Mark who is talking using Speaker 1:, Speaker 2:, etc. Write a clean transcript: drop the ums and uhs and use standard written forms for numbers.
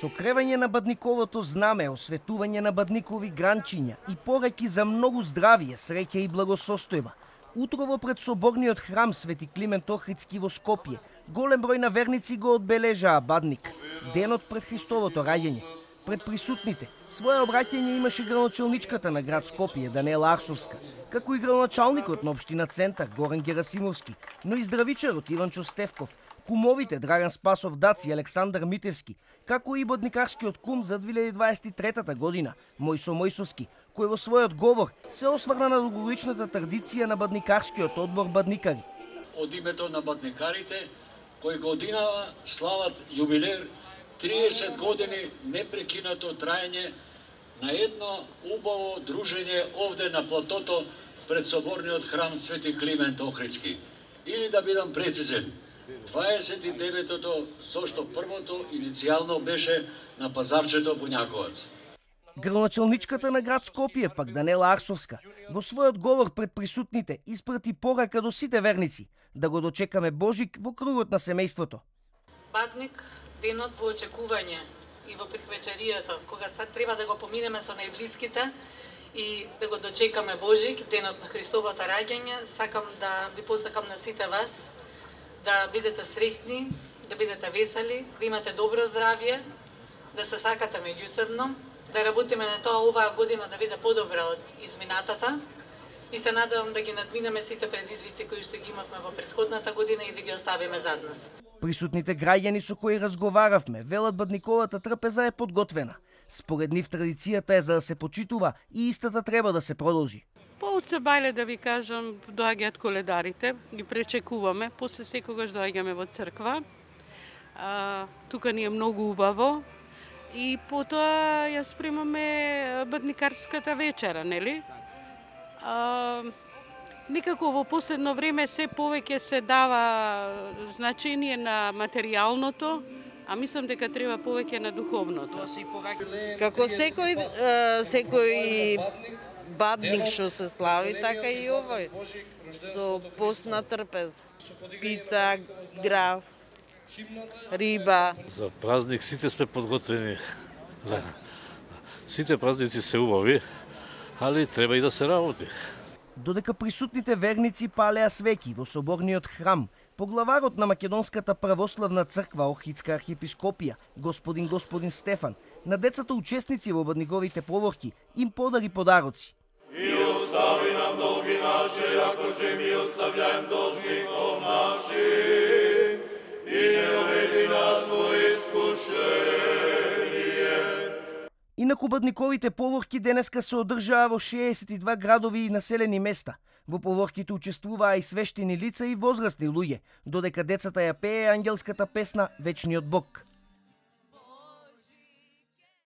Speaker 1: Сокревање на бадниковото знаме, осветување на бадникови гранчиња и пораки за многу здравие, среќа и благосостојба. Утрово пред соборниот храм Свети Климент Охридски во Скопје, голем број на верници го одбележаа Бадник, денот пред Христовото раѓање. Пред присутните, своје обраќање имаше градоначалничката на град Скопје, Данела Арсовска, како и градоначалникот на општина Центар, Горан Герасимовски, но и здравичарот Иванчо Стевков, кумовите Драган Спасов Дац и Александар Митевски, како и бадникарскиот кум за 2023 година, Мојсо Мојсовски, кој во својот говор се осврна на долгогодишната традиција на бадникарскиот одбор Бадникари.
Speaker 2: Од името на бадникарите, кои годинава слават јубилеј 30 години непрекинато траење на едно убаво дружење овде на платото пред соборниот храм Свети Климент Охридски. Или да бидам прецизен, 29-тото, зошто првото иницијално беше на пазарчето Буњаковац.
Speaker 1: Градоначалничката на град Скопје, пак Данела Арсовска, во својот говор пред присутните испрати порака до сите верници да го дочекаме Божик во кругот на семејството.
Speaker 3: Бадник, денот во очекување и во приквечеријата, кога сега треба да го поминеме со најблиските и да го дочекаме Божик, денот на Христовото раѓање, сакам да ви посакам на сите вас да бидете среќни, да бидете весели, да имате добро здравје, да се сакате меѓусебно, да работиме на тоа оваа година да биде подобра од изминатата и се надевам да ги надминеме сите предизвици кои што ги имавме во претходната година и да ги оставиме зад нас.
Speaker 1: Присутните граѓани со кои разговаравме велат бадниковата трпеза е подготвена. Според нив традицијата е за да се почитува и истата треба да се продолжи.
Speaker 4: Од Сабајле, да ви кажам, доаѓаат коледарите, ги пречекуваме, после секогаш доаѓаме во црква. Тука ни е многу убаво и потоа ја спремаме бадникарската вечера, нели? Некако во последно време се повеќе се дава значение на материјалното, а мислам дека треба повеќе на духовното.
Speaker 5: Како секој бадник што се слави, така и овој, со постна трпеза. Пита, граф, риба.
Speaker 6: За празник сите сме подготвени. Да. Сите празници се убави, али треба и да се работи.
Speaker 1: Додека присутните верници палеа свеќи во соборниот храм, поглаварот на Македонската православна црква Охридска архиепископија, господин Стефан, на децата учесници во бадниковите поворки им подари подароци.
Speaker 7: И остави нам долги наши, ако же ми оставляем должником нашим, и не доведи нас во искушение.
Speaker 1: Инаку бадниковите поворки денеска се одржаа во 62 градови и населени места. Во поворките учествуваа и свештени лица и возрастни луѓе, додека децата ја пее ангелската песна Вечниот Бог.